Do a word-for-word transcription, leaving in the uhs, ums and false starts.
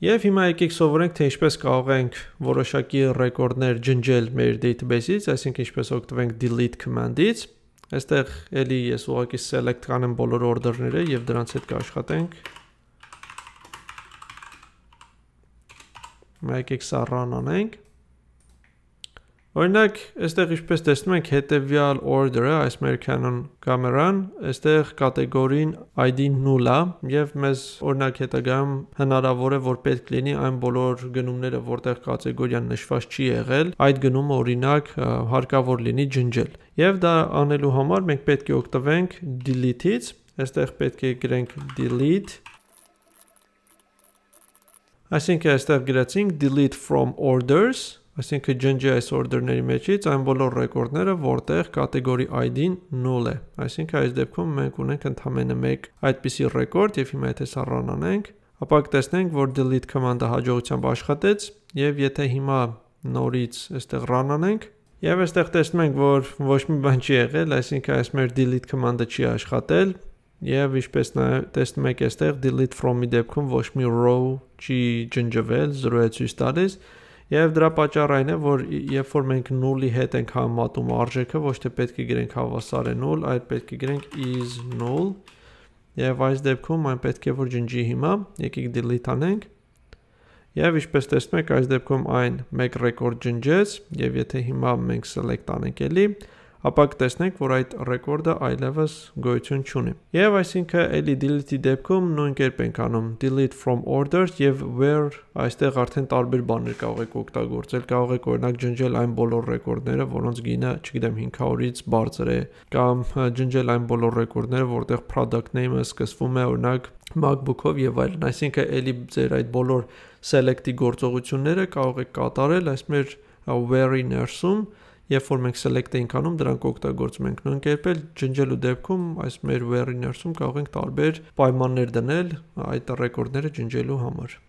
Եվ հիմա եկեք սովորենք, թե ինչպես կարող ենք որոշակի ռեկորդներ ջնջել մեր database-ից, այսինքն ինչպես օգտվենք delete command-ից։ Այստեղ էլի ես ուղղակի select կանեմ բոլոր order-ները եւ դրանց հետ կաշխատենք։ Եկեք սա run անենք։ Օրինակ, այստեղ ինչպես տեսնում ենք, հետևյալ order-ը, այս մեր Canon կամերան, այստեղ կատեգորին I D-ն null է եւ մեզ օրինակ հետագայում հնարավոր է որ պետք լինի այն բոլոր գնումները, որտեղ կատեգորիան նշված չի եղել, այդ գնումը օրինակ հարկավոր լինի ջնջել։ Եվ դա անելու համար մենք պետք է օգտվենք delete-ից, այստեղ պետք է գրենք delete, այսինքն այստեղ գրեցինք delete from orders, այսինքն ջնջի այս օրդերների մեջից այն բոլոր ռեկորդները, որտեղ կատեգորի I D-ն null է։ Այսինքն այս դեպքում մենք ունենք ընդամենը մեկ այդպիսի ռեկորդ եւ հիմա եթե սա run անենք, ապա կտեսնենք, որ delete command-ը հաջողությամբ աշխատեց եւ եթե հիմա նորից այստեղ run անենք, եւ այստեղ տեսնում ենք, որ ոչ մի բան չի եղել, այսինքն այս մեր delete command-ը չի աշխատել եւ ինչպես նաեւ տեսնում եք այստեղ delete from-ի դեպքում ոչ մի row չի ջնջվել, զրո է ցույց տալիս։ Եվ դրա պատճառը այն է, որ երբ որ մենք null-ի հետ ենք համատում արժեքը, ոչ թե պետք է գրենք հավասար է null, այլ պետք է գրենք is null։ Եվ այս դեպքում այն պետք է որ ջնջի հիմա, եկեք delete անենք։ Եվ ինչպես տեսնում եք, այս դեպքում այն մեկ ռեկորդ ջնջեց, եւ եթե հիմա մենք select անենք էլի, ապա կտեսնենք, որ այդ ռեկորդը այլևս գոյություն չունի։ Եվ այսինքն էլի delete-ի դեպքում նույն կերպ ենք անում delete from orders եւ where այստեղ արդեն տարբեր բաներ կարող եք օգտագործել, կարող եք օրինակ ջնջել այն բոլոր ռեկորդները, որոնց գինը, չգիտեմ, հինգ հարյուրից բարձր է, կամ ջնջել այն բոլոր ռեկորդները, որտեղ product name-ը սկսվում է օրինակ MacBook-ով եւ այլն։ Այսինքն էլի ձեր այդ բոլոր select-ի գործողությունները կարող եք կատարել այս մեր where-ի ներսում։ Երբ որ մենք select ենք անում, դրանք օգտագործում ենք նույն կերպ էլ ջնջելու դեպքում այս մեր where-ի ներսում կարող ենք տարբեր պայմաններ դնել այդ ռեկորդները ջնջելու համար։